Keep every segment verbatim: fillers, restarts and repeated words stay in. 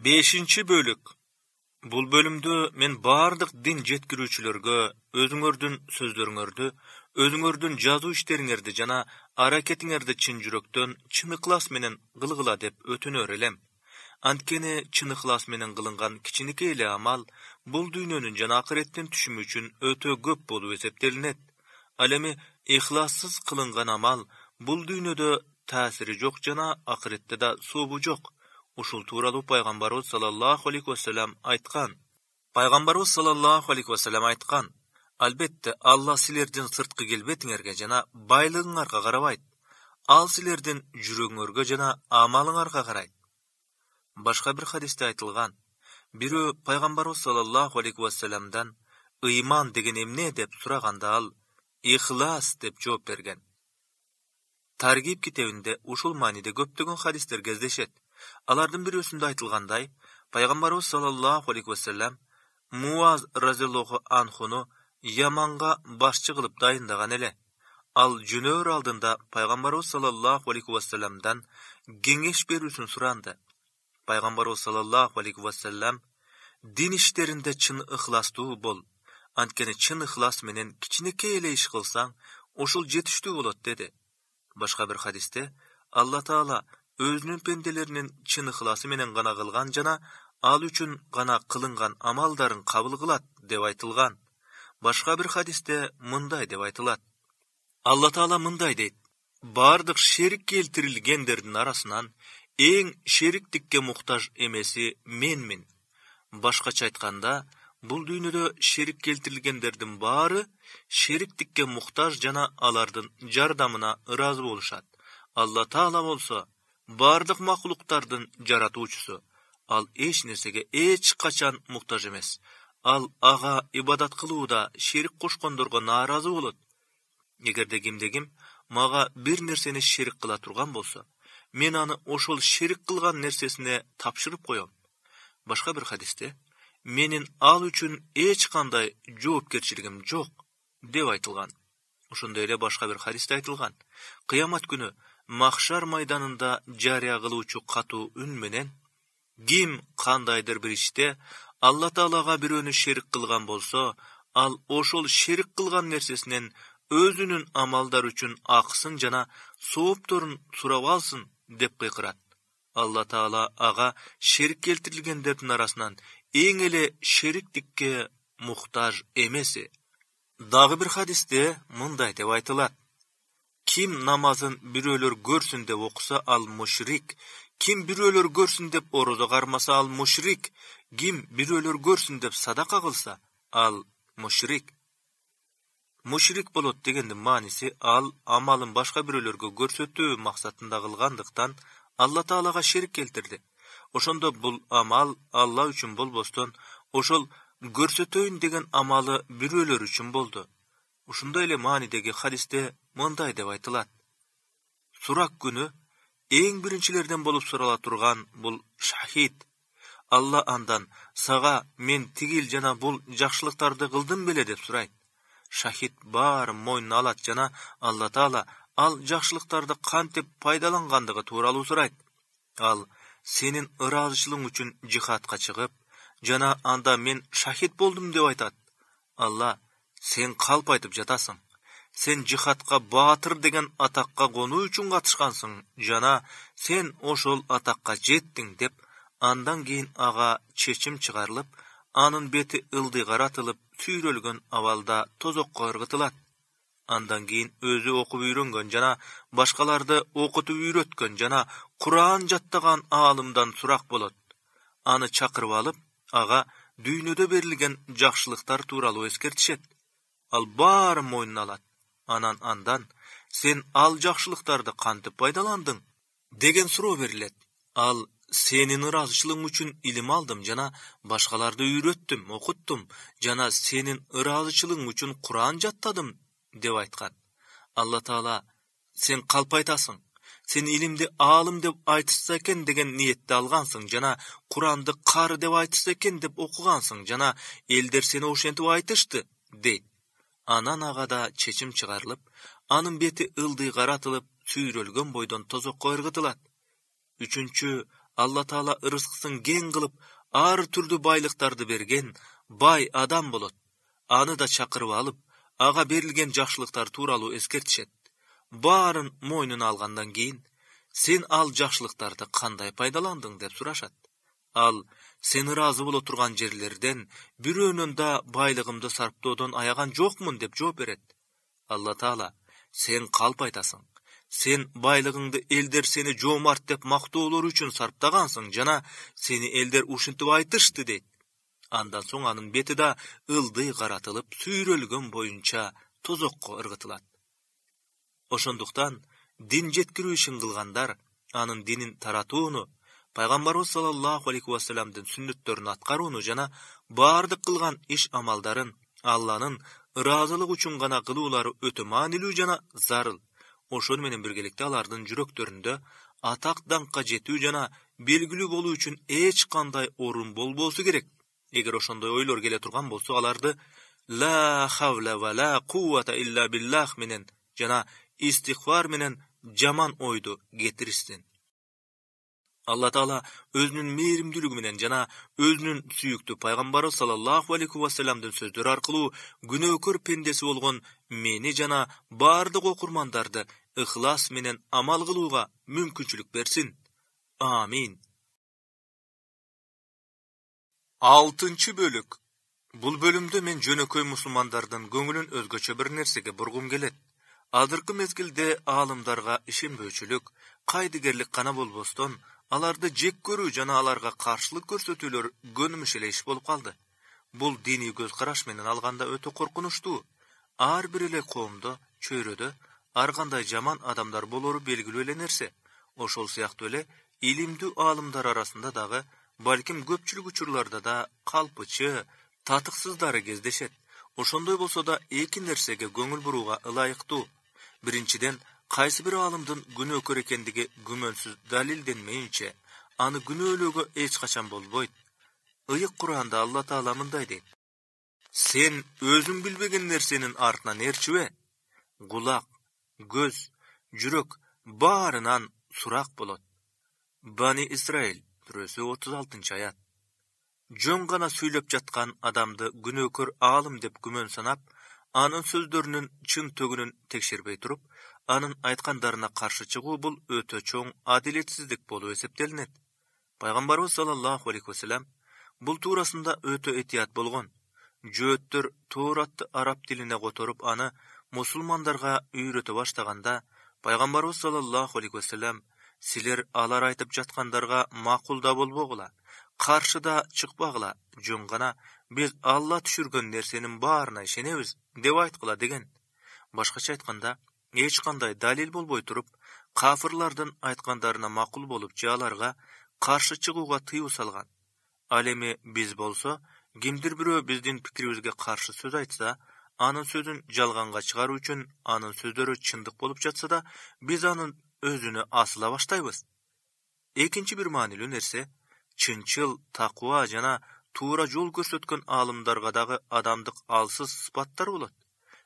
бешинчи бөлүк. Бул бөлүмдө мен бардык дин жеткирүүчүлөргө өзүңөрдүн сөздөрүңөрдү, өзүңөрдүн жазуу иштериңерди жана аракетиңерди чын жүрөктөн, чын ыклас менен кылгыла деп өтүнөр элем. Анткени чын ыклас менен кылынган кичинекей эле амал бул дүйнөнүн жана акыреттин түшүмү үчүн өтө көп болуп эсептелинет. Ал эми ыклассыз кылынган амал бул дүйнөдө таасири жок жана акыретте да сообу жок. Ушул тууралуу пайгамбарыбыз саллаллаху алейхи вассалам айткан. Пайгамбарыбыз саллаллаху алейхи вассалам айткан: "Албетте, Алла силердин сырткы келбетиңерге жана байлыгыңарга карабайт. Ал силердин жүрөгүңөргө жана амалыңарга карайт." Башка бир хадисте айтылган: бирөө пайгамбарыбыз саллаллаху алейхи вассаламдан ыйман деген эмне деп сураганда ал ихлас деп жооп берген. Таргиб китебинде ушул мааниде көптөгөн хадистер кездешет. Алардын бирөөсүндө айтылгандай, пайгамбарыбыз саллаллаху алейхи вассалам Муаз разияллаху анхуну Яманга башчы кылып дайындаган эле. Ал жөнөр алдында пайгамбарыбыз саллаллаху алейхи вассаламдан кеңеш берүүсүн суранды. Пайгамбарыбыз саллаллаху алейхи вассалам: "Дин иштеринде чын ыхластуу бол. Анткени чын ыхлас менен кичинекей эле иш кылсаң, ушул жетиштүү болот" деди. Башка бир хадисте Алла Таала өзүнүн пенделеринин чын ыхласы менен гана кылган жана ал үчүн гана кылынган амалдарын кабыл кылат деп айтылган. Башка бир хадисте мындай деп айтылат: Алла Таала мындай дейт: "Бардык шерик келтирилгендердин арасынан эң шериктикке муктаж эмеси менмин." Башкача айтканда, бул дүйнөдө шерик келтирилгендердин баары шериктикке муктаж жана алардын жардамына ыраазы болушат. Алла Таала болсо бардык макулуктардын жаратуучусу. Ал эч нерсеге эч качан муктаж эмес. Ал ага ибадат кылууда шерик кошкондорго нааразы болот. Эгерде кимде-ким мага бир нерсени шерик кыла турган болсо, мен аны ошол шерик кылган нерсесине тапшырып коем. Башка бир хадисте: "Менин ал үчүн эч кандай жоопкерчилигим жок" деп айтылган. Ошондой эле башка бир хадисте айтылган: "Кыямат күнү махшар майданында жарыя кылуучу катуу үн менен: ким кандайдыр бир иште Алла Таалага бирөөнү шерик кылган болсо, ал ошол шерик кылган нерсесинен өзүнүн амалдары үчүн акысын жана соопторун сурап алсын" деп кыйкырат. Алла Таала ага шерик келтирилгендердин арасынан эң эле шериктикке муктаж эмеси. Дагы бир хадисте мындай деп айтылат: "Ким намазын бирөөлөр көрсүн деп окуса, ал мушрик. Ким бирөөлөр көрсүн деп орозо кармаса, ал мушрик. Ким бирөөлөр көрсүн деп садака кылса, ал мушрик." Мушрик болот дегендин мааниси ал амалын башка бирөөлөргө көрсөтүү максатында кылгандыктан Алла Таалага шерик келтирди. Ошондо бул амал Алла үчүн болбостон, ошол көрсөтөйүн деген амалы бирөөлөр үчүн болду. Ушундай эле маанидеги хадисте мындай деп айтылат: "Сурак күнү эң биринчилерден болуп сурала турган бул шахид. Алла андан: сага мен тигил жана бул жакшылыктарды кылдым беле деп сурайт. Шахид баарын мойнуна алат жана Алла Таала ал жакшылыктарды кантип пайдалангандыгы тууралуу сурайт. Ал: сенин ыраазычылыгың үчүн жихадка чыгып, жана анда мен шахид болдум деп айтат. Алла: сен калп айтып жатасың. Сен жихадка баатыр деген атакка конуу үчүн катышкансың жана сен ошол атакка жеттиң деп, андан кийин ага чечим чыгарылып, анын бети ылдый каратылып, сүйрөлгөн абалда тозокко ыргытылат. Андан кийин өзү окуп үйрөнгөн жана башкаларды окутуп үйрөткөн жана Куран жаттаган аалымдан сурак болот. Аны чакырып алып, ага дүйнөдө берилген жакшылыктар тууралуу эскертишет. Ал баарын мойнуна алат. Анан андан: сен ал жакшылыктарды кантип пайдаландың деген суроо берилет. Ал: сенин ыраазычылыгың үчүн илим алдым жана башкаларды үйрөттүм, окуттум жана сенин ыраазычылыгың үчүн Куран жаттадым деп айткан. Алла Таала: сен калп айтасың. Сен илимди аалым деп айтышса экен деген ниетте алгансың жана Куранды кары деп айтышса экен деп окугансың жана элдер сени ошентип айтышты дейт. Анан ага да чечим чыгарылып, анын бети ылдый каратылып, сүйрөлгөн бойдон тозокко ыргытылат. Үчүнчү Алла Таала ырыскысын кең кылып, ар түрдүү байлыктарды берген бай адам болот. Аны да чакырып алып, ага берилген жакшылыктар тууралуу эскертишет. Баарын мойнуна алгандан кийин, сен ал жакшылыктарды кандай пайдаландың деп сурашат. Ал, сен ыраазы боло турган жерлерден бирөөнөн да байлыгымды сарптоодон аяган жокмун деп жооп берет. Алла Таала, сен калп айтасың. Сен байлыгыңды элдер сени жоомарт деп мактоолор үчүн сарптагансың жана сени элдер ушинтип айтышты дейт. Андан соң анын бети да ылдый каратылып, сүйрөлгөн боюнча тозокко ыргытылат. Ошондуктан дин жеткирүү ишин кылгандар анын динин таратууну, пайгамбарыбыз саллаллаху алейхи вассаламдын сүннөттөрүн аткарууну жана баардык кылган иш-амалдарын Алланын ыраазылыгы үчүн гана кылуулары өтө маанилүү жана зарыл. Ошону менен биргеликте алардын жүрөктөрүндө атак даңкка жетүү жана белгилүү болуу үчүн эч кандай орун болбосу керек. Эгер ошондой ойлор келе турган болсо, аларды ла хавла ва ла куввата илля биллах менен жана истигфар менен жаман ойду кетиришсин. Алла Таала өзүнүн мээримдүүлүгү менен жана өзүнүн сүйүктүү пайгамбары саллаллаху алейхи вассаламдын сөздөрү аркылуу күнөөкөр пендеси болгон мени жана баардык окурмандарды ыхлас менен амал кылууга мүмкүнчүлүк берсин. Амин. Алтынчы бөлүк. Бул бөлүмдө мен жөнөкөй мусулмандардын көңүлүн өзгөчө бир нерсеге бургум келет. Азыркы мезгилде аалымдарга ишенбөөчүлүк, кайдыгерлик гана болбостон, аларды жек көрүү жана аларга каршылык көрсөтүүлөр көнүмүш эле иш болуп калды. Бул диний көз караш менен алганда өтө коркунучтуу. Ар бир эле коомдо, чөйрөдө ар кандай жаман адамдар болору белгилүү эле нерсе. Ошол сыяктуу эле илимдүү аалымдар арасында дагы, балким көпчүлүк учурларда да калпычы, татыксыздары кездешет. Ошондой болсо да эки нерсеге көңүл бурууга ылайыктуу. Биринчиден, кайсы бир аалымдын күнөөкөр экендиги күмөнсүз далилденмейинче, аны күнөөлөөгө эч качан болбойт. Ыйык Куранда Алла Таала мындай дейт: сен өзүң билбеген нерсенин артынан ээрчибе. Кулак, көз, жүрөк баарынан сурак болот. Бани Исраил сүрөсү отуз алтынчы аят. Жөн гана сүйлөп жаткан адамды күнөөкөр аалым деп күмөн санап, анын сөздөрүнүн чын төгүнүн текшербей туруп, анын айткандарына каршы чыгуу бул өтө чоң адилетсиздик болуп эсептелинет. Пайгамбарыбыз саллаллаху алейхи вассалам бул туурасында өтө этият болгон. Жөөттөр Тооратты араб тилине которуп, аны мусулмандарга үйрөтө баштаганда, пайгамбарыбыз саллаллаху алейхи вассалам: силер алар айтып жаткандарга макул да болбогула, каршы да чыкпагыла, жөн гана биз Алла түшүргөн нерсенин баарына ишенебиз деп айткыла деген. Башкача айтканда, эч кандай далил болбой туруп, кафырлардын айткандарына макул болуп же аларга каршы чыгууга тыюу салган. Ал эми биз болсо, кимдир бирөө биздин пикирибизге каршы сөз айтса, анын сөзүн жалганга чыгаруу үчүн анын сөздөрү чындык болуп жатса да, биз анын өзүнө асыла баштайбыз. Экинчи бир маанилүү нерсе, чынчыл, такуа жана туура жол көрсөткөн аалымдарга дагы адамдык алсыз сыпаттар болот.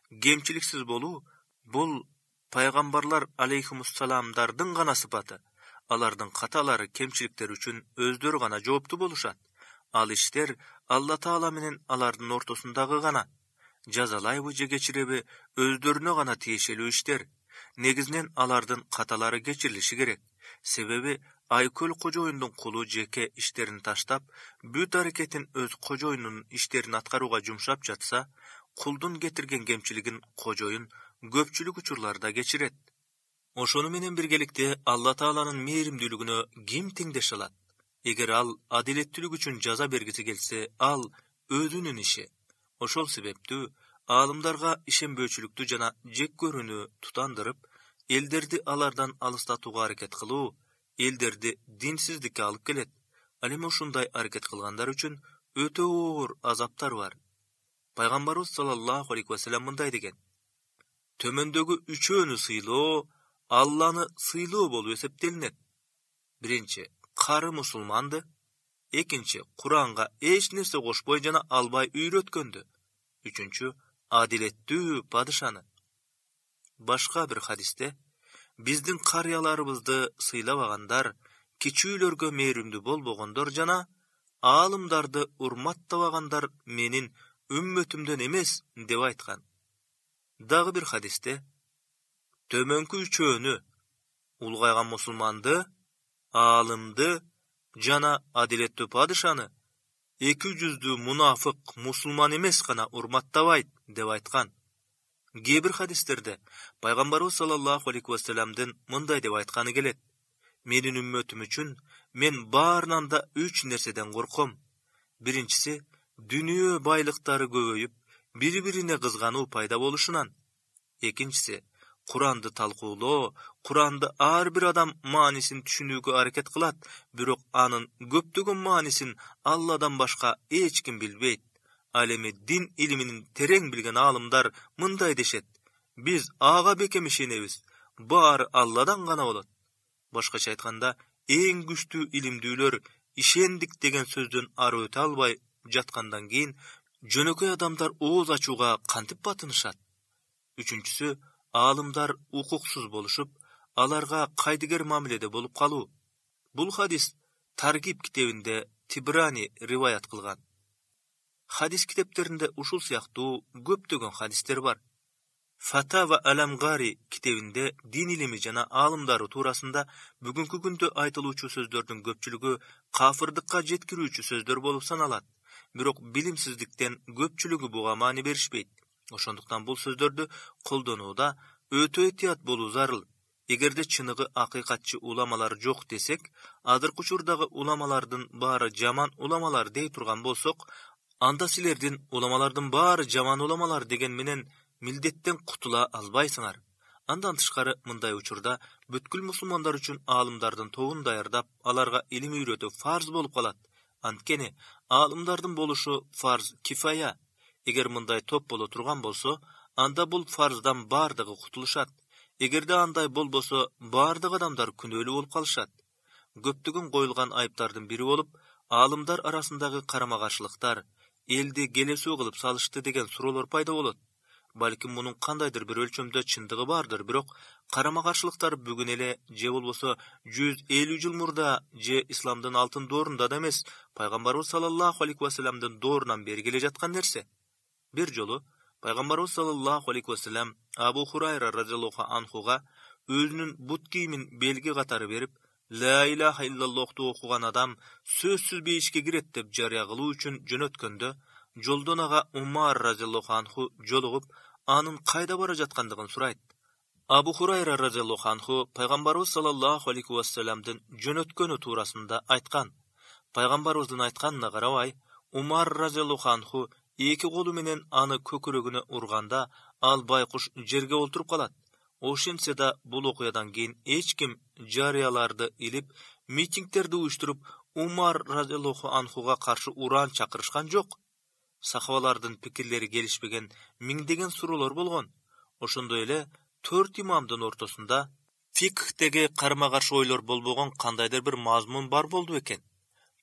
Кемчиликсиз болуу бул пайгамбарлар алейхимуссаламдардын гана сыпаты. Алардын каталары, кемчиликтери үчүн өздөрү гана жооптуу болушат. Ал иштер Алла Таала менен алардын ортосундагы гана. Жазалайбы же кечиреби өздөрүнө гана тиешелүү иштер. Негизинен алардын каталары кечирилиши керек. Себеби айкөл кожоюндун кулу жеке иштерин таштап, бүт аракетин өз кожоюнунун иштерин аткарууга жумшап жатса, кулдун кетирген кемчилигин кожоюн көпчүлүк учурларда кечирет. Ошону менен биргеликте Алла Тааланын мээримдүүлүгүнө ким теңдеш алат? Эгер ал адилеттүүлүк үчүн жаза бергиси келсе, ал өзүнүн иши. Ошол себептүү аалымдарга ишенбөөчүлүктү жана жек көрүүнү тутандырып, элдерди алардан алыстатууга аракет кылуу, элдерди динсиздикке алып келет. Ал эми ушундай аракет кылгандар үчүн өтө оор азаптар бар. Пайгамбарыбыз саллаллаху алейхи вассалам мындай деген: төмөндөгү үчөөнү сыйлоо Алланы сыйлоо болуп эсептелинет. Биринчи, кары мусулманды. Экинчи, Куранга эч нерсе кошпой жана албай үйрөткөндү. Үчүнчү, адилеттүү падышаны. Башка бир хадисте: биздин карыяларыбызды сыйлабагандар кичүүлөргө мээримдүү болбогондор жана аалымдарды урматтабагандар менин үммөтүмдөн эмес деп айткан. Дагы бир хадисте төмөнкү үчөөнү улгайган мусулманды, аалымды жана адилеттүү падышаны эки жүздүү мунафык мусулман эмес гана урматтабайт деп айткан. Кээ бир хадистерде пайгамбарыбыз саллаллаху алейхи вассаламдын мындай деп айтканы келет: менин үммөтүм үчүн мен баарынан да үч нерседен корком. Биринчиси дүнүйө байлыктары көбөйүп, бири-бирине кызгануу пайда болушунан. Экинчиси Куранды талкуулоо, Куранды ар бир адам маанисин түшүнүүгө аракет кылат, бирок анын көптөгөн маанисин Алладан башка эч ким билбейт. Ал эми дин илимин терең билген аалымдар мындай дешет: биз ага бекем ишенебиз, баары Алладан гана болот. Башкача айтканда, эң күчтүү илимдүүлөр ишендик деген сөздөн ары өтө албай жаткандан кийин жөнөкөй адамдар ооз ачууга кантип батынышат? Үчүнчүсү, аалымдар укуксуз болушуп, аларга кайдыгер мамиледе болуп калуу. Бул хадис Таргиб китебинде Тибрани риваят кылган. Хадис китептеринде ушул сыяктуу көптөгөн хадистер бар. Фатава Аламгари китебинде дин илими жана аалымдары туурасында бүгүнкү күндө айтылуучу сөздөрдүн көпчүлүгү кафырдыкка жеткирүүчү сөздөр болуп саналат. Бирок билимсиздиктен көпчүлүгү буга маани беришпейт. Ошондуктан бул сөздөрдү колдонууда өтө этият болуу зарыл. Эгерде чыныгы акыйкатчы уламалар жок десек, азыркы учурдагы уламалардын баары жаман уламалар дей турган болсок, анда силердин уламалардын баары жаман уламалар деген менен милдеттен кутула албайсыңар. Андан тышкары мындай учурда бүткүл мусулмандар үчүн аалымдардын тобун даярдап, аларга илим үйрөтүү фарз болуп калат. Анткени аалымдардын болушу фарз кифая. Эгер мындай топ боло турган болсо, анда бул фарздан бардыгы кутулушат. Эгерде андай болбосо, бардык адамдар күнөөлүү болуп калышат. Көптөгөн коюлган айыптардын бири болуп, аалымдар арасындагы карама-каршылыктар, элди келесүү кылып салышты деген суроолор пайда болот. Балким мунун кандайдыр бир өлчөмдө чындыгы бардыр, бирок карама-каршылыктар бүгүн эле же болбосо жүз элүү жыл мурда же исламдын алтын доорунда да эмес, пайгамбарыбыз саллаллаху алейхи вассаламдын доорунан бери келе жаткан нерсе. Бир жолу пайгамбарыбыз саллаллаху алейхи вассалам Абу Хурайра разияллаху анхуга өзүнүн бут кийимин белги катары берип, ла илаха иллаллохту окуган адам сөзсүз бейишке кирет деп жарыя кылуу үчүн жөнөткөндө, жолдон ага Умар разияллаху анху жолугуп, анын кайда бара жаткандыгын сурайт. Абу Хурайра разияллаху анху пайгамбарыбыз саллаллаху алейхи вассаламдын жөнөткөнү туурасында айткан. Пайгамбарыбыздын айтканына карабай, Умар разияллаху анху эки колу менен аны көкүрөгүнө урганда, ал байкуш жерге олтуруп калат. Ошентсе да бул окуядан кийин эч ким жарыяларды илип, митингдерди уюштуруп, Умар разияллаху анхуга каршы уран чакырышкан жок. Сахабалардын пикирлери келишпеген миңдеген суроолор болгон. Ошондой эле төрт имамдын ортосунда фикхтеги карма-каршы ойлор болбогон кандайдыр бир мазмун бар болду экен.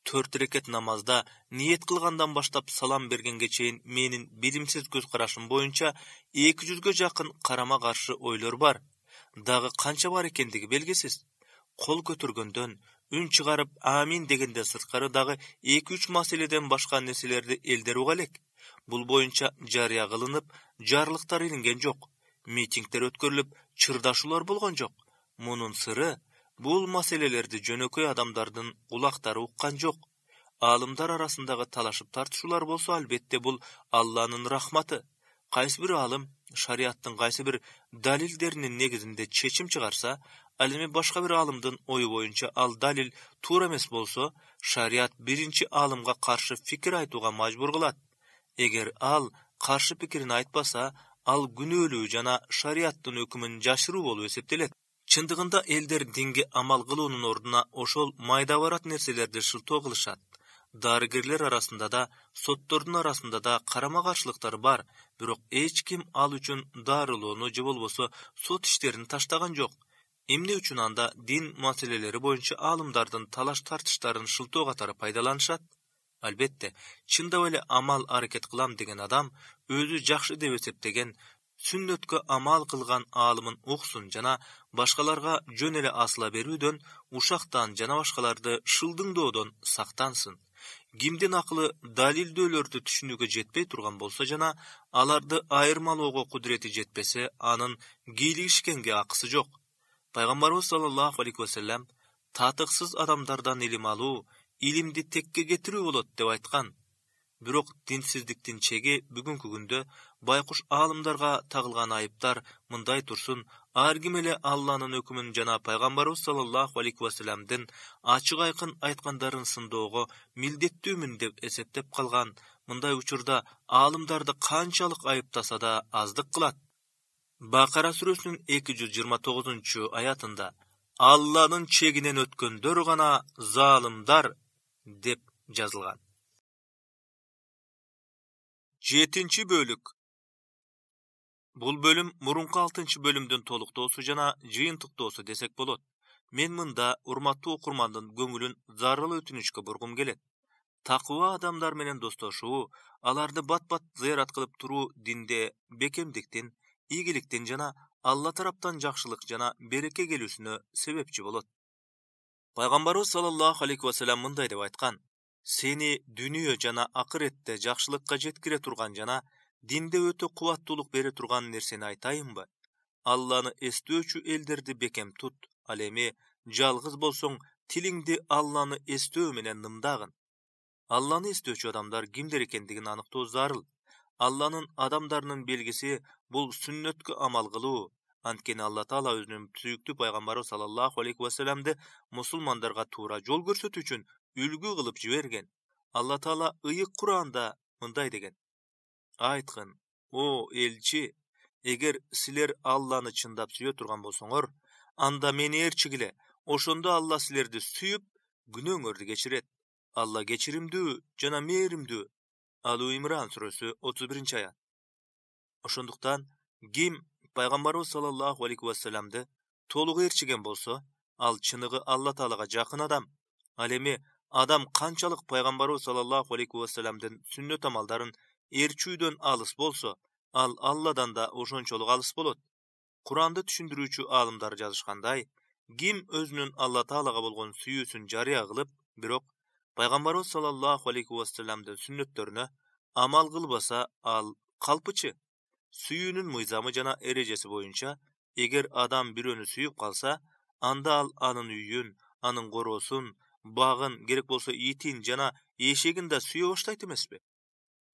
Төрт рекет намазда ниет кылгандан баштап салам бергенге чейин менин билимсиз көз карашым боюнча эки жүзгө жакын карама-каршы ойлор бар. Дагы канча бар экендиги белгисиз. Кол көтөргөндөн, үн чыгарып амин дегенден сырткары дагы эки үч маселеден башка нерселерди элдер уга элек. Бул боюнча жарыя кылынып, жарлыктар илинген жок. Митингдер өткөрүлүп, чырдашуулар болгон жок. Мунун сыры бул маселелерди жөнөкөй адамдардын кулактары уккан жок. Аалымдар арасындагы талашып тартышуулар болсо, албетте бул Алланын рахматы. Кайсы бир аалым шариаттын кайсы бир далилдеринин негизинде чечим чыгарса, ал эми башка бир аалымдын ою боюнча ал далил туура эмес болсо, шариат биринчи аалымга каршы фикир айтууга мажбур кылат. Эгер ал каршы пикирин айтпаса, ал күнөөлүү жана шариаттын өкүмүн жашыруу болуп эсептелет. Чындыгында элдер динге амал кылуунун ордуна ошол майда барат нерселерди шылтоо кылышат. Дарыгерлер арасында да, соттордун арасында да карама-каршылыктар бар, бирок эч ким ал үчүн дарылоону же болбосо сот иштерин таштаган жок. Эмне үчүн анда дин маселелери боюнча аалымдардын талаш тартыштарын шылтоо катары пайдаланышат? Албетте, чындап эле амал аракет кылам деген адам өзү жакшы деп эсептеген, сүннөткө амал кылган алымын уксун жана башкаларга жөн эле асыла берүүдөн, ушактан жана башкаларды шылдыңдоодон сактансын. Кимдин акылы далилдөөлөрдү түшүнүүгө жетпей турган болсо жана аларды айырмалоого кудурети жетпесе, анын кийлигишкенге акысы жок. Пайгамбарыбыз саллаллаху алейхи вассалам татыксыз адамдардан илим алуу, илимди текке кетирүү болот деп айткан. Бирок динсиздиктин чеги бүгүнкү күндө байкуш аалымдарга тагылган айыптар мындай турсун, ар ким эле Алланын өкүмүн жана пайгамбарыбыз саллаллаху алейхи вассаламдын ачык айкын айткандарын сындоого милдеттүүмүн деп эсептеп калган. Мындай учурда аалымдарды канчалык айыптаса да аздык кылат. Бакара сүрөсүнүн эки жүз жыйырма тогузунчу аятында Алланын чегинен өткөндөр гана залымдар деп жазылган. жетинчи бөлүк. Бул бөлүм мурунку алтынчы бөлүмдүн толуктоосу жана жыйынтыктоосу десек болот. Мен мында урматтуу окурмандын көңүлүн зарыл өтүнүчкө бургум келет. Такыба адамдар менен достошуу, аларды бат-бат зыярат кылып туруу динде бекемдиктин, ийгиликтин жана Алла тараптан жакшылык жана береке келүүсүнө себепчи болот. Пайгамбарыбыз саллаллаху алейхи вассалам мындай деп айткан: сени дүнүйө жана акыретте жакшылыкка жеткире турган жана динде өтө кубаттуулук бере турган нерсени айтайынбы? Алланы эстөөчү элдерди бекем тут. Ал эми жалгыз болсоң, тилиңди Алланы эстөө менен нымдагын. Алланы эстөөчү адамдар кимдер экендигин аныктоо зарыл. Алланын адамдарынын белгиси бул сүннөткө амал кылуу. Анткени Алла Таала өзүнүн сүйүктүү пайгамбары саллаллаху алейхи вассаламды мусулмандарга туура жол көрсөтүү үчүн үлгү кылып жиберген. Алла Таала ыйык Куранда мындай деген: айткын, о элчи, эгер силер Алланы чындап сүйө турган болсоңор, анда мени ээрчигиле, ошондо Алла силерди сүйүп, күнөөңөрдү кечирет. Алла кечиримдүү жана мээримдүү. Алу Имран сүрөсү отуз биринчи аят. Ошондуктан ким пайгамбарыбыз саллаллаху алейхи вассаламды толук ээрчиген болсо, ал чыныгы Алла Таалага жакын адам. Ал эми адам канчалык пайгамбарыбыз саллаллаху алейхи вассаламдын сүннөт амалдарын ээрчүүдөн алыс болсо, ал Алладан да ошончолук алыс болот. Куранды түшүндүрүүчү аалымдар жазышкандай, ким өзүнүн Алла Таалага болгон сүйүүсүн жарыя кылып, бирок пайгамбарыбыз саллаллаху алейхи вассаламдын сүннөттөрүнө амал кылбаса, ал калпычы. Сүйүүнүн мыйзамы жана эрежеси боюнча, эгер адам бирөөнү сүйүп калса, анда ал анын үйүн, анын короосун, багын, керек болсо итин жана эшегин да сүйө баштайт эмеспи?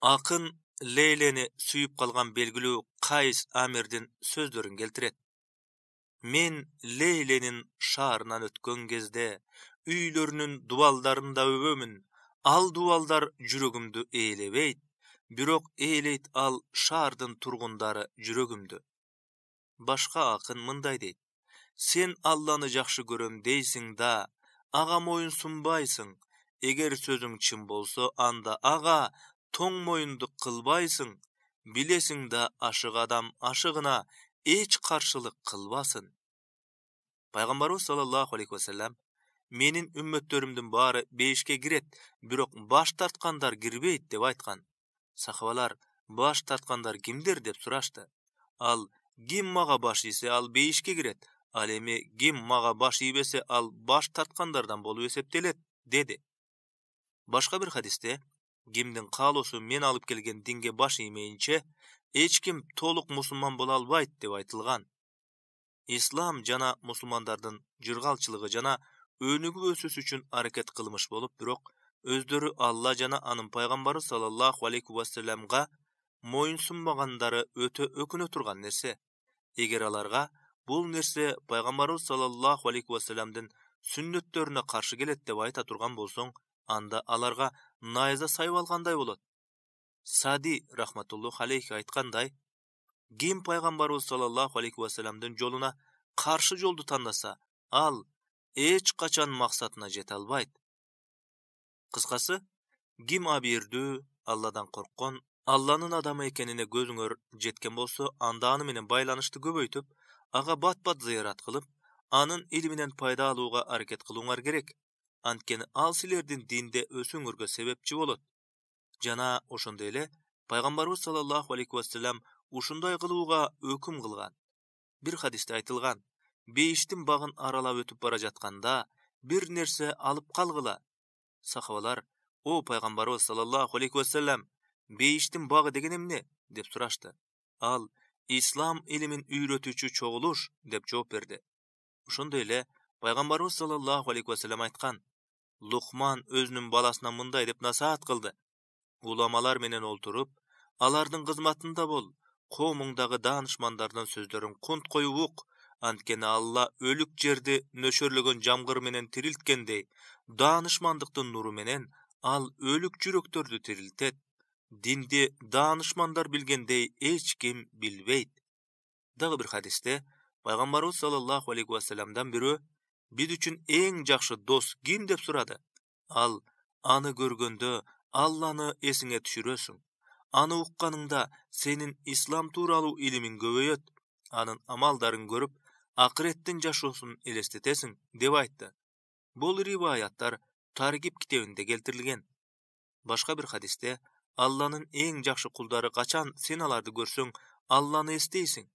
Акын Лейлени сүйүп калган белгилүү Кайс Амирдин сөздөрүн келтирет. Мен Лейленин шаарынан өткөн кезде үйлөрүнүн дубалдарында өбөмүн. Ал дубалдар жүрөгүмдү ээлебейт, бирок ээлейт ал шаардын тургундары жүрөгүмдү. Башка акын мындай дейт: сен Алланы жакшы көрөм дейсиң да, ага моюн сунбайсың. Эгер сөзүң чын болсо, анда ага тоң моюндук кылбайсың. Билесиң да, ашык адам ашыгына эч каршылык кылбасын. Пайгамбарыбыз саллаллаху алейхи вассалам: менин үммөттөрүмдүн баары бейишке кирет, бирок баш тарткандар кирбейт деп айткан. Сахабалар: баш тарткандар кимдер деп сурашты. Ал: ким мага баш ийсе, ал бейишке кирет. Ал эми ким мага баш ийбесе, ал баш тарткандардан болуп эсептелет, деди. Башка бир хадисте: кимдин каалоосу мен алып келген динге баш иймейинче, эч ким толук мусулман боло албайт деп айтылган. Ислам жана мусулмандардын жыргалчылыгы жана өнүгүп өсүш үчүн аракет кылмыш болуп, бирок өздөрү Алла жана анын пайгамбары саллаллаху алейхи вассаламга моюн сунбагандары өтө өкүнө турган нерсе. Эгер аларга бул нерсе пайгамбарыбыз саллаллаху алейхи вассаламдын сүннөттөрүнө каршы келет деп айта турган болсоң, анда аларга найза сайып алгандай болот. Сади рахматуллаху алейхи айткандай: ким пайгамбарыбыз саллаллаху алейхи вассаламдын жолуна каршы жолду тандаса, ал эч качан максатына жете албайт. Кыскасы, ким абийирдүү, Алладан корккон, Алланын адамы экенине көзүңөр жеткен болсо, анда аны менен байланышты көбөйтүп, ага бат-бат зыярат кылып, анын илиминен пайда алууга аракет кылууңар керек. Анткени ал силердин динде өсүүңөргө себепчи болот. Жана ошондой эле пайгамбарыбыз саллаллаху алейхи вассалам ушундай кылууга өкүм кылган. Бир хадисте айтылган: бейиштин багын аралап өтүп бара жатканда бир нерсе алып калгыла. Сахабалар: "О пайгамбарыбыз саллаллаху алейхи вассалам, бейиштин багы деген эмне?" деп сурашты. Ал: "Ислам илимин үйрөтүүчү чогулуш" деп жооп берди. Ошондой эле пайгамбарыбыз саллаллаху алейхи вассалам айткан: Лукман өзүнүн баласына мындай деп насаат кылды: "Уламалар менен олтуруп, алардын кызматында бол, коомуңдагы даанышмандардын сөздөрүн кунт коюп ук, анткени Алла өлүк жерди нөшөрлөгөн жамгыр менен тирилткендей, даанышмандыктын нуру менен ал өлүк жүрөктөрдү тирилтет. Динди даанышмандар билгендей эч ким билбейт." Дагы бир хадисте пайгамбарыбыз саллаллаху алейхи вассаламдан бирөө: "Биз үчүн эң жакшы дос ким?" деп сурады. Ал: "Аны көргөндө Алланы эсиңе түшүрөсүң. Аны укканыңда сенин ислам тууралуу илимиң көбөйөт. Анын амалдарын көрүп, акыреттин жашоосун элестетесиң" деп айтты. Бул риваяттар Таргиб китебинде келтирилген. Башка бир хадисте: "Алланын эң жакшы кулдары качан сен аларды көрсөң, Алланы эстейсиң?"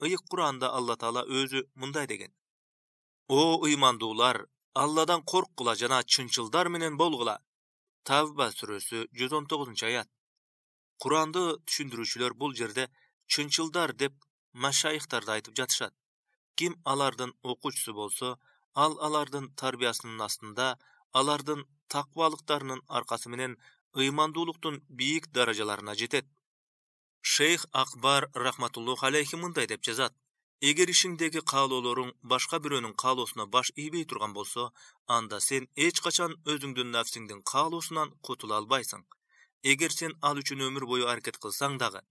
Ыйык Куранда Алла Таала өзү мындай деген: "О ыймандуулар, Алладан корккула жана чынчылдар менен болгула." Тавба сүрөсү жүз он тогузунчу аят. Куранды түшүндүрүүчүлөр бул жерде чынчылдар деп машайыхтарды айтып жатышат. Ким алардын окуучусу болсо, ал алардын тарбиясынын астында, алардын таквалыктарынын аркасы менен ыймандуулуктун бийик даражаларына жетет. Шейх Акбар рахматуллах алейхи мындай деп жазат: "Эгер ишиңдеги каалоолоруң башка бирөөнүн каалоосуна баш ийбей турган болсо, анда сен эч качан өзүңдүн нафсиңдин каалоосунан кутула албайсың. Эгер сен ал үчүн өмүр бою аракет кылсаң дагы.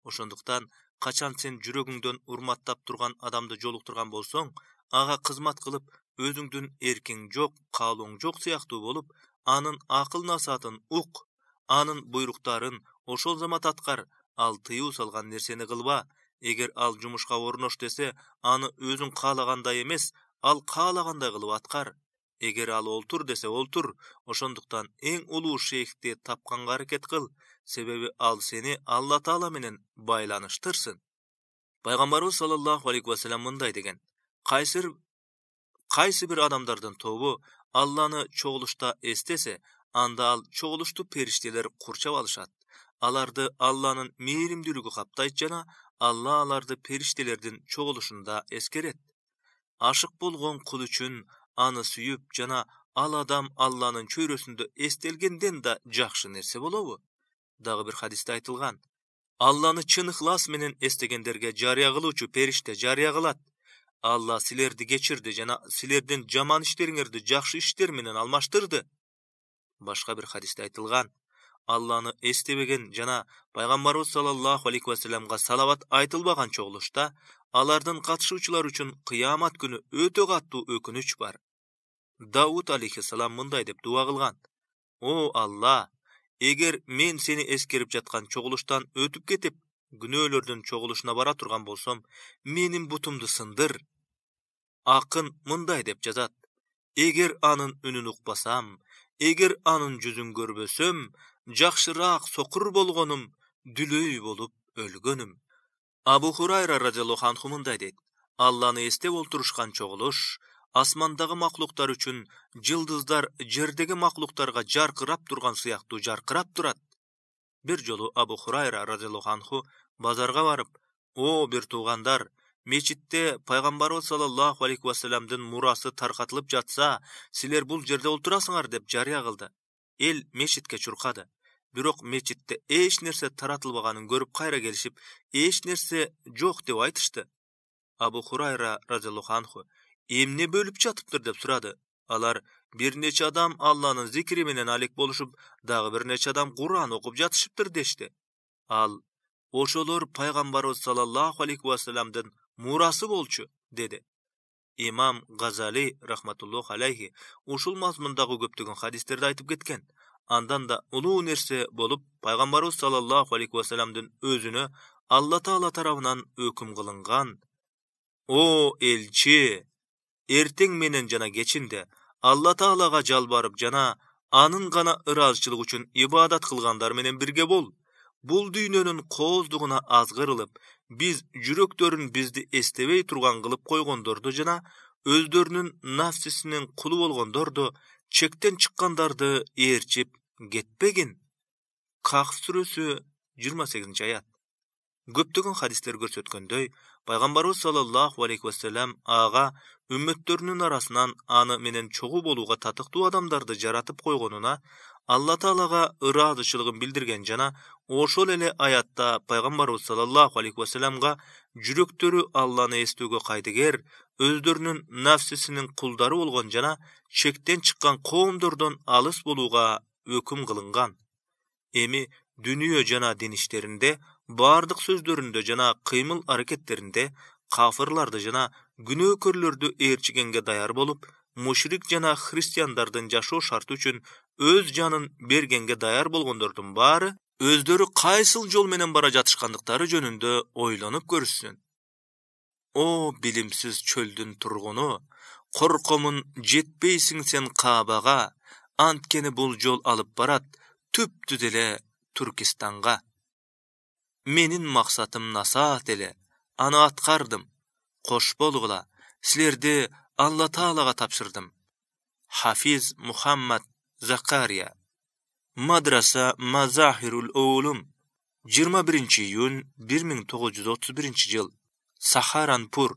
Ошондуктан качан сен жүрөгүңдөн урматтап турган адамды жолуктурган болсоң, ага кызмат кылып, өзүңдүн эркиң жок, каалооң жок сыяктуу болуп, анын акыл насаатын ук, анын буйруктарын ошол замат аткар, ал тыюу салган нерсени кылба. Эгер ал жумушка орнош десе, аны өзүң каалагандай эмес, ал каалагандай кылып аткар. Эгер ал олтур десе олтур, ошондуктан эң улуу шейхти тапканга аракет кыл, себеби ал сени Алла Таала менен байланыштырсын." Пайгамбарыбыз саллаллаху алейхи вассалам мындай деген: "Кайсы кайсы бир адамдардын тобу Алланы чогулушта эстесе, анда ал чогулушту периштелер курчап алышат. Аларды Алланын мээримдүүлүгү каптайт жана Алла аларды периштелердин чогулушунда эскерет. Ашык болгон кул үчүн аны сүйүп жана ал адам Алланын чөйрөсүндө эстелгенден да жакшы нерсе болобу?" Дагы бир хадисте айтылган: "Алланы чын ыхлас менен эстегендерге жарыя кылуучу периште жарыя кылат: Алла силерди кечирди жана силердин жаман иштериңерди жакшы иштер менен алмаштырды." Башка бир хадисте айтылган: "Алланы эстебеген жана пайгамбарыбыз саллаллаху алейхи вассаламга салават айтылбаган чогулушта алардын катышуучулары үчүн кыямат күнү өтө катуу өкүнүч бар." Дауд алейхиссалам мындай деп дуа кылган: "О Алла, эгер мен сени эскерип жаткан чогулуштан өтүп кетип, күнөөлөрдүн чогулушуна бара турган болсом, менин бутумду сындыр." Акын мындай деп жазат: "Эгер анын үнүн укпасам, эгер анын жүзүн көрбөсөм, жакшыраак сокур болгонум, дүлөй болуп өлгөнүм." Абу Хурайра радиаллаху анху мындай дейт: "Алланы эстеп олтурушкан чогулуш асмандагы маклуктар үчүн жылдыздар жердеги маклуктарга жаркырап турган сыяктуу жаркырап турат." Бир жолу Абу Хурайра радиаллаху анху базарга барып: "О бир туугандар, мечитте пайгамбарыбыз саллаллаху алейхи вассаламдын мурасы таркатылып жатса, силер бул жерде олтурасыңар" деп жарыя кылды. Эл мечитке чуркады. Бирок мечитте эч нерсе таратылбаганын көрүп кайра келишип, эч нерсе жок деп айтышты. Абу Хурайра радиаллаху анху: "Эмне бөлүп жатыптыр?" деп сурады. Алар: "Бир нече адам Алланын зикри менен алек болушуп, дагы бир нече адам Куран окуп жатышыптыр" дешти. Ал: "Ошолор пайгамбарыбыз саллаллаху алейхи вассаламдын мурасы болчу" деди. Имам Газали рахматуллах алейхи ушул мазмундагы көптөгөн хадистерди айтып кеткен. Андан да улуу нерсе болуп, пайгамбарыбыз саллаллаху алейхи вассаламдын өзүнө Алла Таала тарабынан өкүм кылынган: "О элчи, эртең менен жана кечинде Алла Таалага жалбарып жана анын гана ыраазычылыгы үчүн ибадат кылгандар менен бирге бол. Bul düýnönün kozduguna azgyrılıp, biz jürekdörün bizdi estebey turgan kılıp koygondordu jana, özdörünün nafsisinin kulu bolgondordu, çekten çıkkandardı erçip getpegin. Kaf Suresi yigirme sekizinci ayat. Köptögün hadisler görsetkenдөй, Paygambarыбыз sallallahu aleyhi ve sellem ağa ümmetlerinin arasынан anı menen çoğu boluğa tatıktуу adamdardı jaratıp koygonuna, Allah Taalaga ıradıçılığın bildirgen jana, oşol ele ayatda Paygambarыбыз sallallahu aleyhi ve sellemga jürektörü Allah'ını estöge kaydıger, özdörünün nafsisinin kuldары bolgon jana, çekten çıkkan koomdordan alыс boluğa öküm kılıngan. Emi dünyö jana din işlerinde, bardyk sözdöründe jana kıymıl hareketlerinde kafirlarda jana günökörlördü erçigenge dayar bolup, müşrik jana hristiyandardan jaşoo şartı üçün öz janın bergenge dayar bolgondordun bari özdörü kaysıl jol menen bara jatışkandıktары jönündө oylanyp görüşsün. O bilimsiz çöldün turgunu, korkomun jetpeysiň sen Kabaga, antkeni bul jol alıp barat tüptü dele Türkistanга. Menin maksatım nasat ele, ana atkardım, koş bolgula, silerdi Allah Taalaga tapşırdım. Hafiz Muhammad Zakariya, Madrasa Mazahirul Oğlum, yigirme birinci iyun bir ming to'qqiz yuz o'ttiz birinchi yıl, Saharanpur,